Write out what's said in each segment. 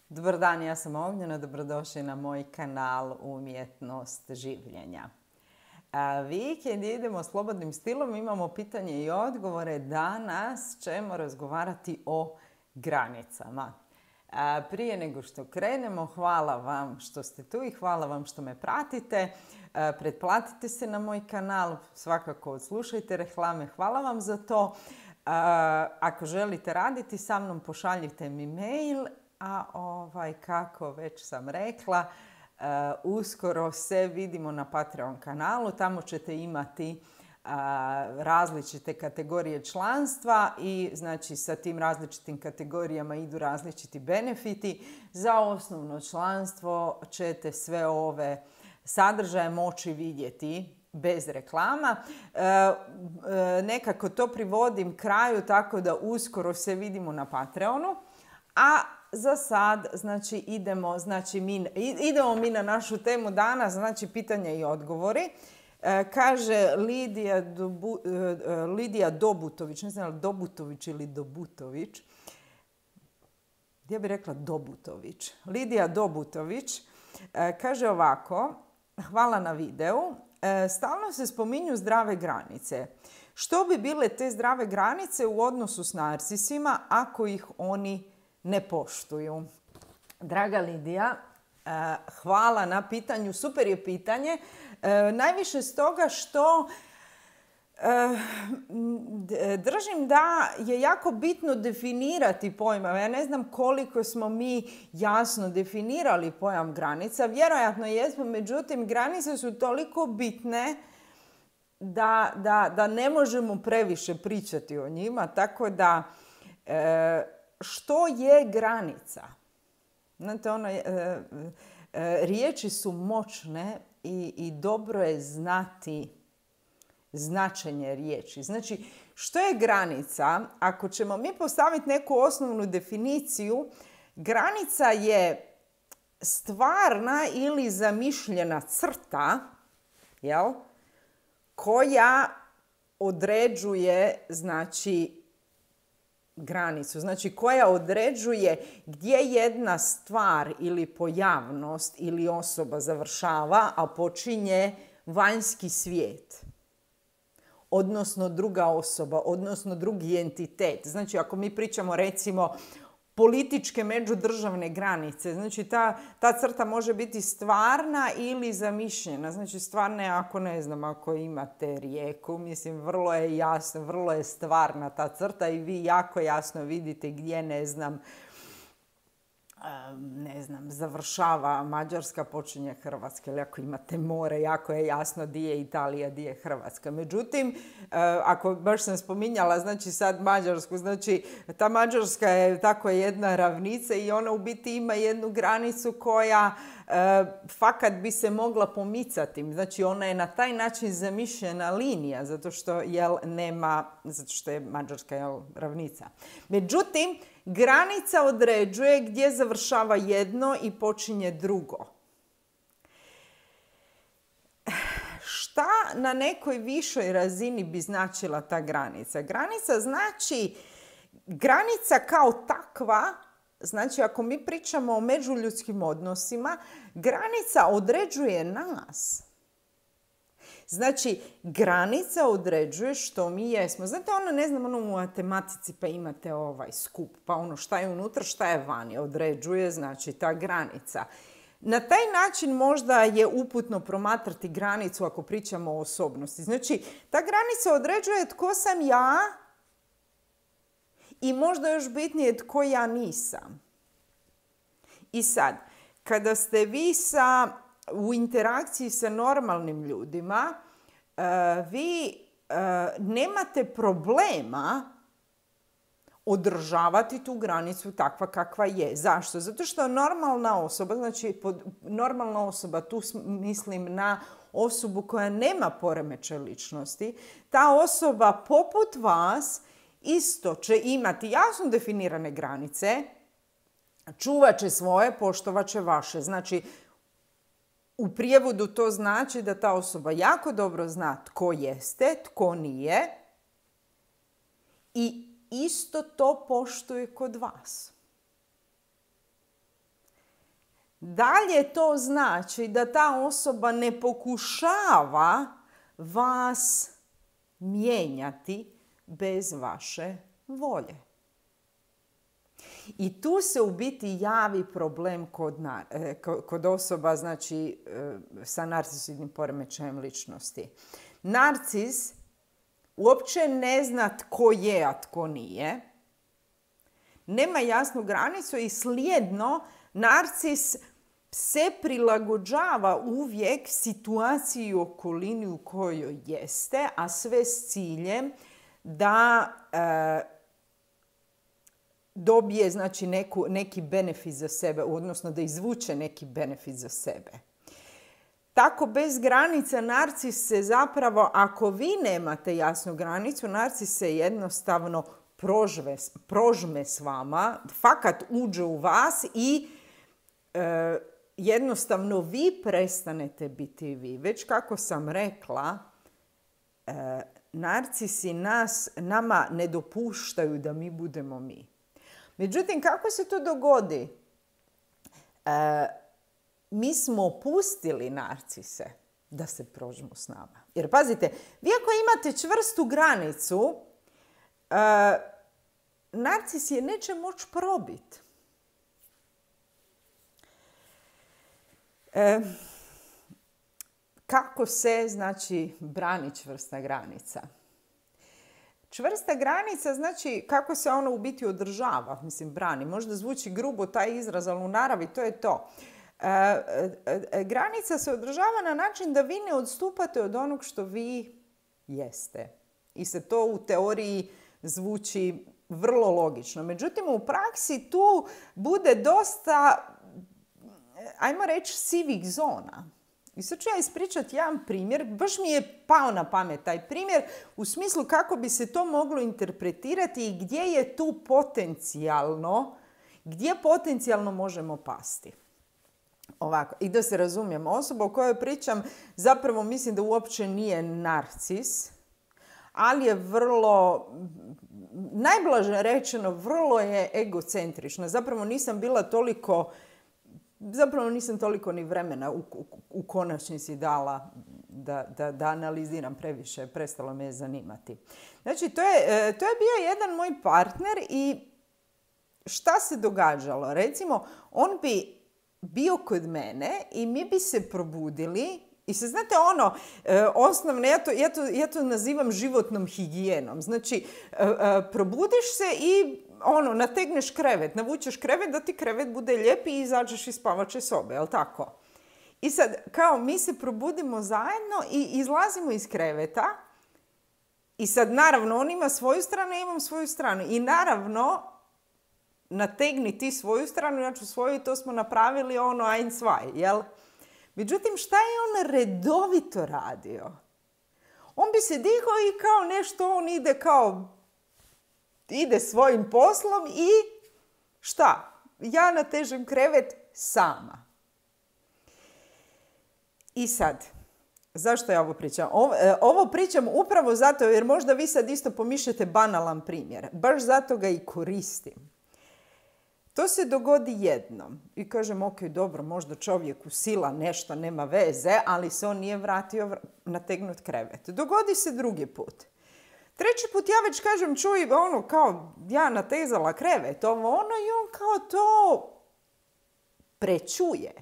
Dobar dan, ja sam Ognjena, dobrodošli na moj kanal Umjetnost življenja. Vikend idemo slobodnim stilom, imamo pitanje i odgovore. Danas ćemo razgovarati o granicama. Prije nego što krenemo, hvala vam što ste tu i hvala vam što me pratite. Pretplatite se na moj kanal, svakako odslušajte reklame, hvala vam za to. Ako želite raditi sa mnom, pošaljite mi mail. A kako već sam rekla, uskoro se vidimo na Patreon kanalu. Tamo ćete imati različite kategorije članstva i znači sa tim različitim kategorijama idu različiti benefiti. Za osnovno članstvo ćete sve ove sadržaje moći vidjeti bez reklama. Nekako to privodim kraju tako da uskoro se vidimo na Patreonu. A za sad, znači, idemo mi na našu temu danas, znači pitanja i odgovori. Kaže Lidija Dobutović, ne znam Dobutović ili Dobutović. Ja bih rekla Dobutović. Lidija Dobutović kaže ovako: hvala na videu. Stalno se spominju zdrave granice. Što bi bile te zdrave granice u odnosu s narcisima ako ih oni ne poštuju? Draga Lidija, hvala na pitanju. Super je pitanje. Najviše stoga što držim da je jako bitno definirati pojmove. Ja ne znam koliko smo mi jasno definirali pojam granica. Vjerojatno jesmo, međutim granice su toliko bitne da ne možemo previše pričati o njima. Tako da što je granica? Znate, riječi su moćne i dobro je znati značenje riječi. Znači, što je granica? Ako ćemo mi postaviti neku osnovnu definiciju, granica je stvarna ili zamišljena crta, jel, koja određuje, znači, granicu. Znači, koja određuje gdje jedna stvar ili pojavnost ili osoba završava, a počinje vanjski svijet. Odnosno druga osoba, odnosno drugi entitet. Znači, ako mi pričamo recimo političke međudržavne granice, znači ta crta može biti stvarna ili zamišljena. Znači, stvarna je ako ne znam, ako imate rijeku, mislim, vrlo je jasno, vrlo je stvarna ta crta i vi jako jasno vidite gdje, ne znam, završava Mađarska, počinje Hrvatska. Ili ako imate more, jako je jasno di je Italija, di je Hrvatska. Međutim, ako baš sam spominjala, znači sad Mađarsku, znači ta Mađarska je tako jedna ravnica i ona u biti ima jednu granicu koja fakat bi se mogla pomicati. Znači ona je na taj način zamišljena linija, zato što je Mađarska ravnica. Međutim, granica određuje gdje završava jedno i počinje drugo. Šta na nekoj višoj razini bi značila ta granica? Granica znači, granica kao takva, znači ako mi pričamo o međuljudskim odnosima, granica određuje nas. Znači, granica određuje što mi jesmo. Znate, u matematici pa imate skup, pa šta je unutra, šta je vani. Određuje, znači, ta granica. Na taj način možda je uputno promatrati granicu ako pričamo o osobnosti. Znači, ta granica određuje tko sam ja i možda još bitnije tko ja nisam. I sad, kada ste vi u interakciji sa normalnim ljudima, vi nemate problema održavati tu granicu takva kakva je. Zašto? Zato što normalna osoba, znači normalna osoba, tu mislim na osobu koja nema poremećaj ličnosti, ta osoba poput vas isto će imati jasno definirane granice, čuvat će svoje, poštovat će vaše. Znači, u prijevodu to znači da ta osoba jako dobro zna tko jeste, tko nije i isto to poštuje kod vas. dalje to znači da ta osoba ne pokušava vas mijenjati bez vaše volje. I tu se u biti javi problem kod osoba, znači, sa narcisoidnim poremećajem ličnosti. Narcis uopće ne zna tko je, a tko nije. Nema jasnu granicu i slijedno narcis se prilagođava uvijek situaciji i okolini u kojoj jeste, a sve s ciljem da dobije, znači, neki benefit za sebe, odnosno da izvuče neki benefit za sebe. Tako bez granica narcis se zapravo, ako vi nemate jasnu granicu, narcis se jednostavno prožme s vama, fakat uđe u vas i jednostavno vi prestanete biti vi. Već kako sam rekla, narcisi nama ne dopuštaju da mi budemo mi. Međutim, kako se to dogodi? Mi smo pustili narcise da se prožmu s nama. Jer pazite, vi ako imate čvrstu granicu, narcis je neće moći probiti. Kako se, znači, brani čvrsta granica? Čvrsta granica znači kako se ona u biti održava, mislim, brani. Možda zvuči grubo taj izraz, ali u naravi to je to. Granica se održava na način da vi ne odstupate od onog što vi jeste. I se to u teoriji zvuči vrlo logično. Međutim, u praksi tu bude dosta, ajmo reći, sivih zona. I sad ću ja ispričati jedan primjer, baš mi je pao na pamet taj primjer, u smislu kako bi se to moglo interpretirati i gdje potencijalno možemo pasti. Ovako, i da se razumijemo, osoba o kojoj pričam zapravo mislim da uopće nije narcis, ali je vrlo, najblaže rečeno, vrlo je egocentrična. Zapravo nisam toliko ni vremena u konačnici dala da analiziram previše, prestalo me je zanimati. Znači, to je bio jedan moj partner i šta se događalo? Recimo, on bi bio kod mene i mi bi se probudili i se, znate, osnovno, ja to nazivam životnom higijenom. Znači, probudiš se i nategneš krevet, navučeš krevet da ti krevet bude lijep i izađeš iz spavače sobe, jel tako? I sad, kao mi se probudimo zajedno i izlazimo iz kreveta i sad, naravno, on ima svoju stranu, ja imam svoju stranu. I naravno, nategni ti svoju stranu, ja ću svoju i to smo napravili ein, zwei, jel? Međutim, šta je on redovito radio? On bi se digao i kao nešto, on ide svojim poslom i šta? Ja natežem krevet sama. I sad, zašto ja ovo pričam? Ovo pričam upravo zato jer možda vi sad isto pomišljate banalan primjer. Baš zato ga i koristim. To se dogodi jednom i kažem, ok, dobro, možda čovjeku sila nešto, nema veze, ali se on nije vratio nategnut krevet. Dogodi se drugi put. Treći put ja već kažem, čuj, kao ja natezala krevet, i on kao to prečuje.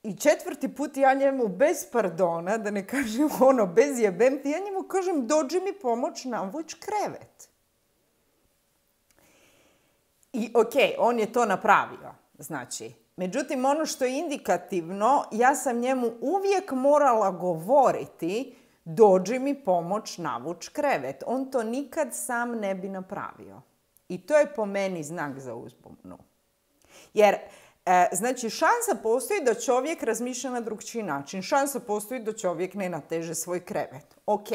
I četvrti put ja njemu bez pardona, da ne kažem bez jebemti, ja njemu kažem, dođi mi pomoć navuć krevet. I ok, on je to napravio, znači. Međutim, ono što je indikativno, ja sam njemu uvijek morala govoriti, dođi mi pomoć navuć krevet. On to nikad sam ne bi napravio. I to je po meni znak za uzbunu. Jer, znači, šansa postoji da čovjek razmišlja na drugčiji način. Šansa postoji da čovjek ne nateže svoj krevet. Ok.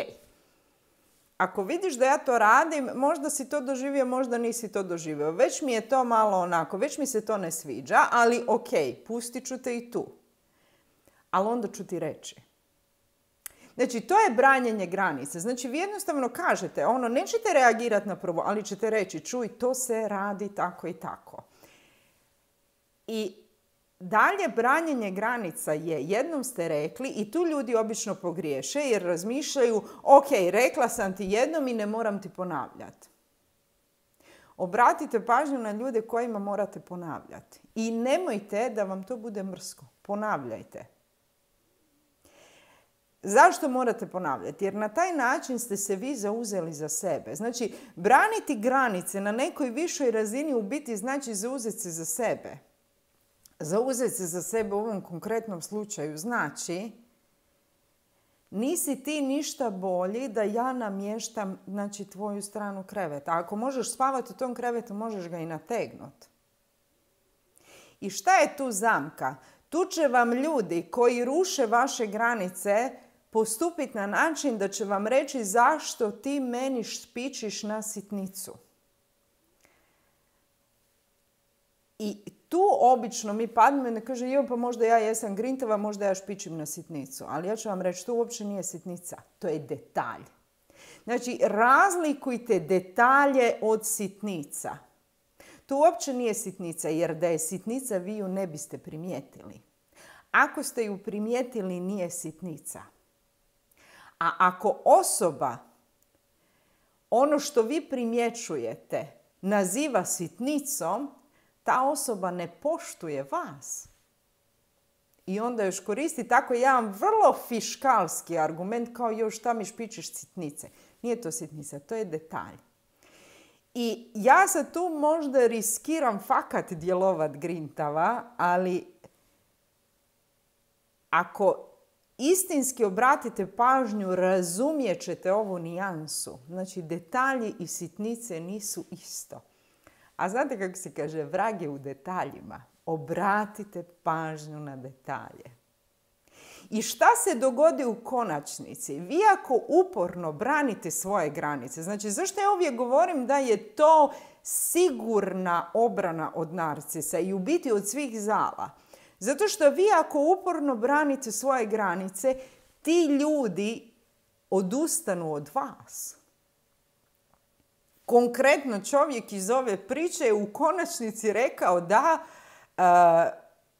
Ako vidiš da ja to radim, možda si to doživio, možda nisi to doživio. Već mi je to malo onako, već mi se to ne sviđa, ali ok, pustit ću te i tu. Ali onda ću ti reći. Znači, to je branjenje granice. Znači, vi jednostavno kažete, nećete reagirati na prvo, ali ćete reći, čuj, to se radi tako i tako. I dalje branjenje granica je, jednom ste rekli, i tu ljudi obično pogriješe jer razmišljaju, ok, rekla sam ti jednom i ne moram ti ponavljati. Obratite pažnju na ljude kojima morate ponavljati. I nemojte da vam to bude mrsko. Ponavljajte. Zašto morate ponavljati? Jer na taj način ste se vi zauzeli za sebe. Znači, braniti granice na nekoj višoj razini u biti znači zauzeti se za sebe. Zauzeti se za sebe u ovom konkretnom slučaju znači nisi ti ništa bolji da ja namještam, znači, tvoju stranu kreveta. Ako možeš spavati u tom krevetu, možeš ga i nategnuti. I šta je tu zamka? Tu će vam ljudi koji ruše vaše granice postupiti na način da će vam reći zašto ti meni špičiš na sitnicu. I tu obično mi padnemo i ne kaže, jo, pa možda ja jesam grintava, možda ja špičim na sitnicu. Ali ja ću vam reći, to uopće nije sitnica, to je detalj. Znači, razlikujte detalje od sitnica. To uopće nije sitnica, jer da je sitnica vi ju ne biste primijetili. Ako ste ju primijetili, nije sitnica. A ako osoba ono što vi primjećujete naziva sitnicom, ta osoba ne poštuje vas. I onda još koristi tako jedan vrlo fiškalski argument kao još šta mi špičiš sitnice. Nije to sitnica, to je detalj. I ja sad tu možda riskiram fakat djelovat grintava, ali ako istinski obratite pažnju, razumijet ćete ovu nijansu. Znači, detalji i sitnice nisu isto. A znate kako se kaže, vrag je u detaljima. Obratite pažnju na detalje. I šta se dogodi u konačnici? Vi ako uporno branite svoje granice, znači zašto ja uvijek govorim da je to sigurna obrana od narcisa i u biti od svih zala? Zato što vi ako uporno branite svoje granice, ti ljudi odustanu od vas. Konkretno čovjek iz ove priče je u konačnici rekao da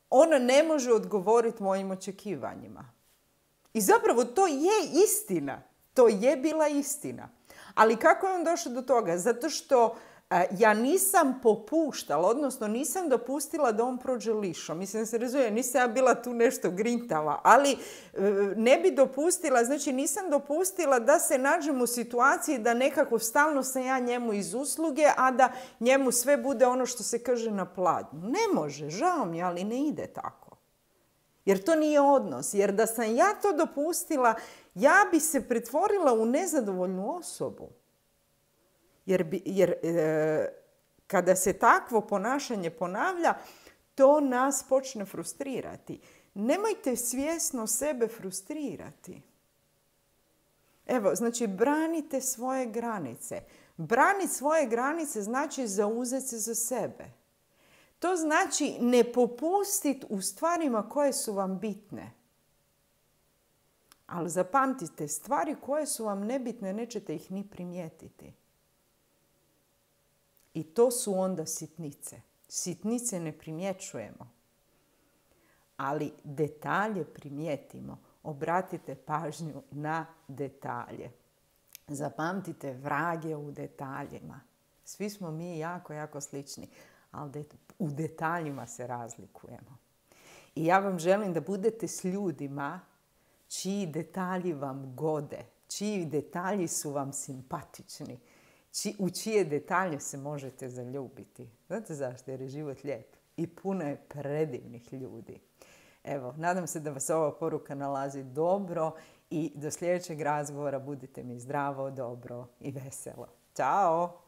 on ne može odgovoriti mojim očekivanjima. I zapravo to je istina. To je bila istina. Ali kako je on došao do toga? Zato što ja nisam popuštala, odnosno nisam dopustila da on prođe lišom. Mislim da se razumije, nisam ja bila tu nešto grintava, ali ne bi dopustila, znači nisam dopustila da se nađem u situaciji da nekako stalno sam ja njemu iz usluge, a da njemu sve bude ono što se kaže na pladnju. Ne može, žao mi, ali ne ide tako. Jer to nije odnos. Jer da sam ja to dopustila, ja bi se pretvorila u nezadovoljnu osobu. Jer kada se takvo ponašanje ponavlja, to nas počne frustrirati. Nemojte svjesno sebe frustrirati. Evo, znači, branite svoje granice. Braniti svoje granice znači zauzeti se za sebe. To znači ne popustiti u stvarima koje su vam bitne. Ali zapamtite, stvari koje su vam nebitne, nećete ih ni primijetiti. I to su onda sitnice. Sitnice ne primjećujemo. Ali detalje primijetimo. Obratite pažnju na detalje. Zapamtite, vrag je u detaljima. Svi smo mi jako, jako slični. Ali u detaljima se razlikujemo. I ja vam želim da budete s ljudima čiji detalji vam gode. Čiji detalji su vam simpatični. U čije detalje se možete zaljubiti. Znate zašto? Jer je život lijep. I puno je predivnih ljudi. Evo, nadam se da vas ova poruka nalazi dobro i do sljedećeg razgovora budite mi zdravo, dobro i veselo. Ćao!